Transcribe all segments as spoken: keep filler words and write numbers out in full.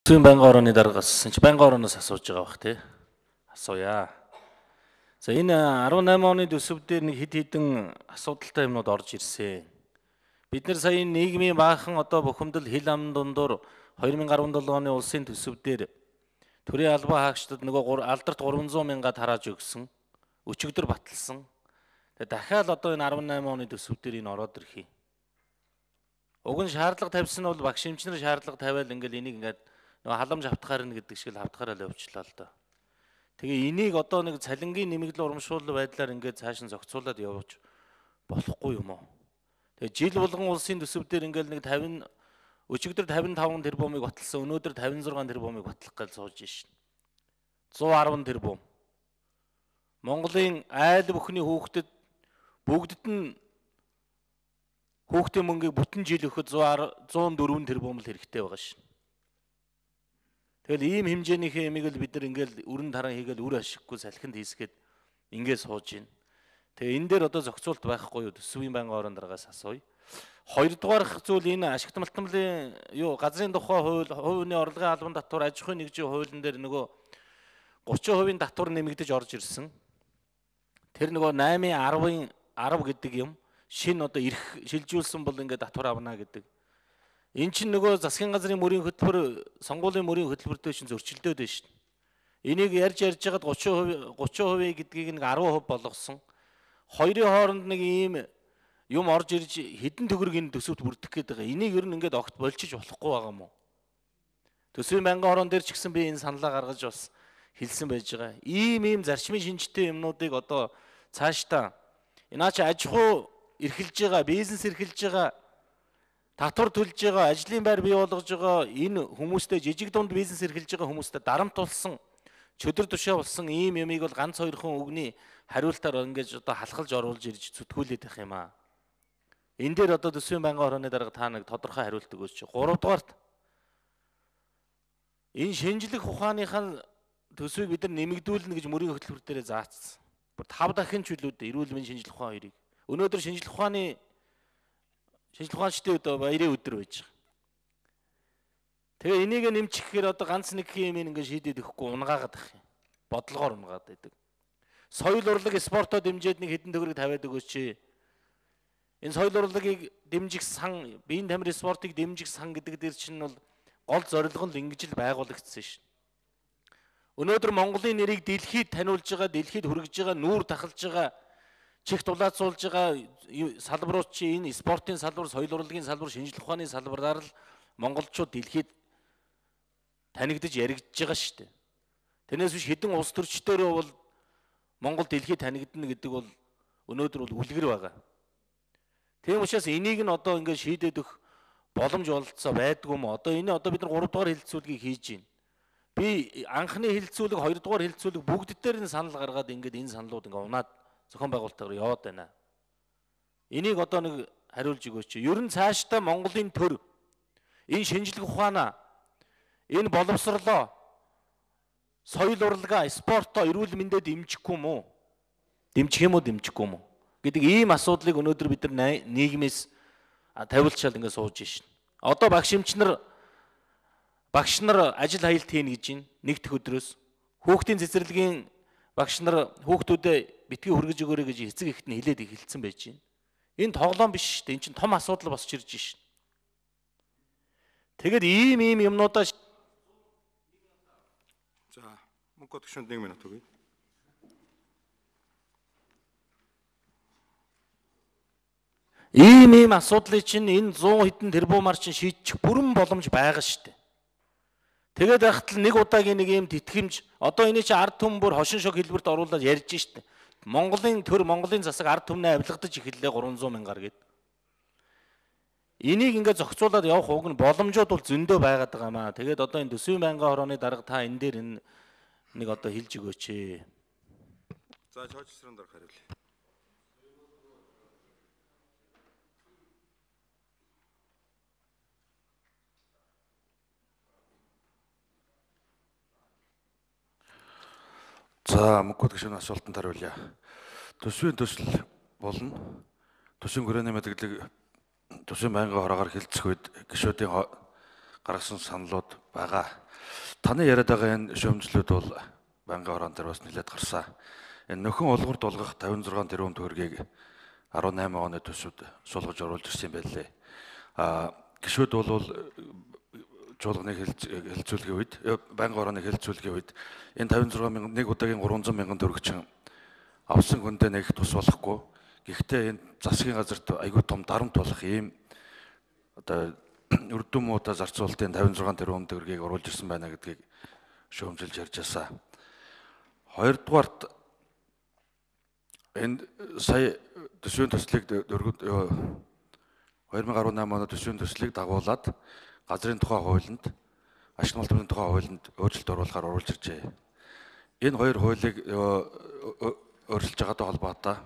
Төсвийн байнгын орооны дарга асуусан чи байнгын орооноос асууж байгаа бах тий. Асууя. За энэ арван найман оны төсөв дээр нэг хэд хэдэн асуудалтай юмнууд орж ирсэн. Бид нэр сая нийгмийн баахан одоо бухимдал хил ам дундуур хоёр мянга арван долоо оны улсын төсөв дээр төрийн албан хаагчдад нөгөө алдарт гурван зуун мянгаад харааж өгсөн. Өчигдөр баталсан. Тэгээ дахиад одоо энэ арван найман оны төсөв дээр энэ ороод ирхий. Уг нь шаардлага тавьсан нь бол багш эмчнэр шаардлага тавиал ингээл энийг ингээд нөгөө халамж автахаар нь гэдэг шиг л автахаараа л явуулчлаа л доо. Тэгээ энийг одоо нэг цалингийн нэмэгдэл урамшуул байдлаар ингээд цааш нь зохицуулаад явууч болохгүй юм уу? Тэгээ жил болгон улсын төсөв дээр ингээд нэг тавин өчигдөр тавин таван тэрбумыг баталсан, өнөөдөр тавин зургаан тэрбумыг батлах гэж сууж шин. зуун арван тэрбум. Монголын айл бүхний хүүхдэд бүгдд нь хүүхдийн мөнгийг бүтэн жил өгөхөд зуун дөрвөн тэрбум л хэрэгтэй байгаа шин. Тэгэл ийм хэмжээнийхээ ямиг л бид нар ингээл өрн таран хийгээл үр ашиггүй салхинд хийсгээд ингээд сууж байна. Тэгээ энэ дээр одоо зохицуулт байхгүй юу? Төсвийн байнгын орон дараагаас асууя. Хоёрдугаарх зүйл энэ ашигт малтмлын юу газрын тухай хууль, хувийн орлогын албан татвар, аж ахуйн нэгжийн хуулийн дээр нөгөө гучин хувийн татвар нэмэгдэж орж ирсэн. Тэр нөгөө наймын арвын арав гэдэг юм шин одоо ирэх шилжүүлсэн бол ингээд татвар авна гэдэг. Эн чинь нөгөө засгийн газрын мөрийн хөтөлбөр, сонгуулийн мөрийн хөтөлбөртэй чинь зөрчилдөөд байна шүү дээ. Энийг ярьж ярьж хагаад гучин хувийн гэдгийг нэг арван хувь болгосон. Хоёрын хооронд нэг ийм юм орж ирж хэдэн төгрөг энэ төсөвт бүрдэх гээд байгаа. Энийг ер нь ингээд огт болчих болохгүй байгаа юм уу? Төсвийн байнгын орон дээр ч гэсэн би энэ саналаа гаргаж бас хэлсэн байж байгаа. Ийм ийм зарчмын шинжтэй юмнуудыг одоо цаашдаа энаа чи аж ахуй эрхэлж байгаа, бизнес эрхэлж байгаа, татвар төлж байгаа, ажлын байр бий болгож байгаа энэ хүмүүстэй жижиг дунд бизнес эрхэлж байгаа хүмүүстэй дарамт тулсан, чөдөр тушаа болсон ийм юмыг бол ганц хоёрхан үгний хариултаар ингэж одоо халахалж оруулж ирж зүтгүүлээд байх юм аа. Энэ дээр одоо төсвийн байнгын орооны дарга та нэг тодорхой хариулт өгөөч. Гуравдугаарт энэ шинжлэх ухааныхаа төсвийг бид нар нэмэгдүүлнэ гэж мөрийн хөтөлбөр дээр заацсан. Тав дахин ч үлүүд эрүүл мэндийн шинжлэх ухаан хоёрыг. Өнөөдөр шинжлэх ухааны шинжлэх ухаанчдын өдөр баярын өдөр байж байгаа. Тэгээ энийг нэмчих гэхээр одоо ганц нэг юм ингээд шийдээд өгөхгүй унгаагаад байх юм. Бодлогоор унгаад байдаг. Соёл урлаг спортоо дэмжиж нэг хэдэн төгрөг тавиад өгөөч. Энэ соёл урлагийг дэмжих сан, биеийн тамирын спортыг дэмжих сан гэдэг дээр чинь бол гол зорилго нь ингэж л байгуулагдсан шин. Өнөөдөр Монголын нэрийг дэлхийд таниулж байгаа, дэлхийд хүргэж байгаа, нүүр тахалж байгаа, чих дулаацуулж байгаа салбарууд чи энэ спортын салбар, соёл урлагийн салбар, шинжлэх ухааны салбараар л монголчууд дэлхийд танигдж яригдж байгаа шүү дээ. Тэрнээс биш хэдэн улс төрчдөрөө бол Монгол дэлхийд танигдана гэдэг бол өнөөдөр бол үлгэр байгаа. Тийм учраас энийг нь одоо ингээд шийдээд өгөх боломж олцоо байдгүй юм. Одоо энэ одоо бид нар гурав дахь хилцүүлгийг хийж байна. Би анхны хилцүүлэг, хоёр дахь хилцүүлэг бүгд дээр нь санал гаргаад ингээд энэ саналууд ингээд унаад зохион байгуулалтаар яваад байна. Энийг одоо нэг хариулж өгөөч. Ер нь цаашдаа Монголын төр энэ шинжлэх ухаанаа, энэ боловсрлоо, соёл урлагаа, спортоо, эрүүл мэндэд дэмжихгүй юм уу? Дэмжих юм уу, дэмжихгүй юм уу гэдэг ийм асуудлыг өнөөдөр бид нар нийгмээс тавилчаал ингээд сууж шин. Одоо багш эмчнэр багш нар ажил хаялт хийнэ гэж байна. Нэг дэх өдрөөс хүүхдийн цэцэрлэгийн багш нар хүүхдүүдэд битгий хүргэж өгөөрэй гэж эцэг эхт нь хэлээд эхэлсэн байж байна. Энэ тоглоом биш шүү дээ. Энэ чинь том асуудал босч ирж шин. Тэгэд ийм ийм юмнуудаа за мөнгө төгшөнд нэг минут өгье. Ийм ийм асуудлыг чинь энэ зуун хэдэн тэрбумаар чинь шийдчих бүрэн боломж байгаа шүү дээ. Тэгээд байхад л нэг удаагийн нэг юм тэтгэмж одоо энэ чинь ард түмэн бүр хошин шог хэлбэрт оруулаад ярьж штэ. Монголын төр Монголын засаг ард түмнээ авилгадаж эхэллээ гурван зуун мянгаар гээд. Энийг ингээд зохицуулаад явах уг нь боломжууд бол зөндөө байгаад байгаа маа. Тэгээд одоо энэ төсвийн байнгын орооны дарга та энэ дээр энэ нэг одоо хэлж өгөөч. За чойчсрын дарга хариулъя. За мөнгө төгшөний асуултанд хариулъя. Төсвийн төсөл болно. Төсвийн хүрээний мэдээлэл төсвийн байнгын хороогаар хилцэх үед гишүүдийн гаргасан саналууд байгаа. Таны яриад байгаа энэ шүүмжлүүд бол банкны хорон дээр бас нэлээд гарсан. Энэ нөхөн олгорд олгох тавин зургаан тэрбум төгрөгийг арван найман оны төсөвд суулгаж оруулж ирсэн юм байлээ. А гишүүд бол жуулганы хэлэлцүүлгийн үед, банкны хорооны хэлэлцүүлгийн үед энэ тавин зургаан мянган нэг удаагийн гурван зуун мянган төгрөгчин авсан хүндээ нэг тус болохгүй. Гэхдээ энэ засгийн газарт айгүй том дарамт болох ийм одоо өрдөн муутай зарцуулалтын тавин зургаан тэрбум төгрөгийг оруулж ирсэн байна гэдгийг шүүмжилж ярьж байсан. Хоёрдугаарт энэ сая төсвийн төслийг хоёр мың арван найман оны төсвийн төслийг дагуулад газрын тухай хуулинд, ашиг малбарын тухай хуулинд өөрчлөлт оруулахаар оруулж иржээ. Энэ хоёр хуулийг өөрчилж байгаатай холбоотой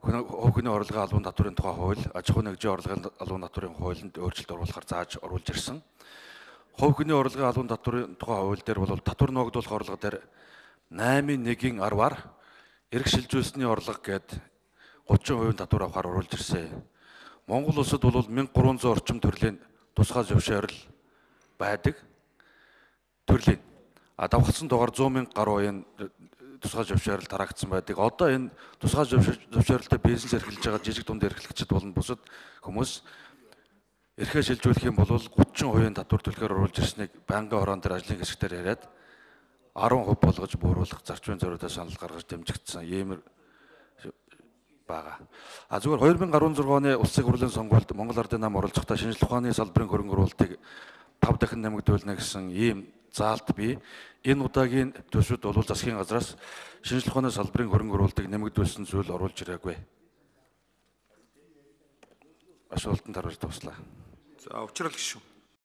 хувь хүний орлогын албан татврын тухай хууль, аж ахуйн нэгжийн орлогын албан татврын хуулинд өөрчлөлт оруулахар зааж оруулж ирсэн. Хувь хүний орлогын албан татврын тухай хууль дээр бол татвар ногдуулах орлого дээр наймын нэгin арваар эрх шилжүүлсний орлого гээд гучин хувийн татвар авахар оруулж ирсэн. Монгол улсад бол мянга гурван зуун орчим төрлийн тусгай зөвшөөрөл байдаг. Төрлийн. А давхцсан дугаар зуун мянга гаруй энэ тусгай зөвшөөрөл тараагдсан байдаг. Одоо энэ тусгай зөвшөөрөлтэй бизнес эрхэлж байгаа жижиг дунд эрхлэгчид болон бусад хүмүүс эрхээ шилжүүлэх юм бол гучин хувийн татвар төлөхөөр оруулж ирснийг банкны хорон дээр ажлын хэсгээр яриад арван хувь болгож бууруулах зарчмын зорилготой санал гаргаж дэмжигдсэн ийм байгаа. А зүгээр хоёр мың арван зургаан оны улсын хурлын сонгуульд Монгол Ардын нам оролцохдоо шинжлэх ухааны салбарын хөрөнгө оруулалтыг тав дахин нэмэгдүүлнэ гэсэн ийм заалт бий. Энэ удаагийн төсвөд бол засгийн газраас шинжлэх ухааны салбарын хөрөнгө оруулалтыг нэмэгдүүлсэн зүйл оруулж ирээгүй. Асуултанд хариулт туслаа. За, учрал гишүүн.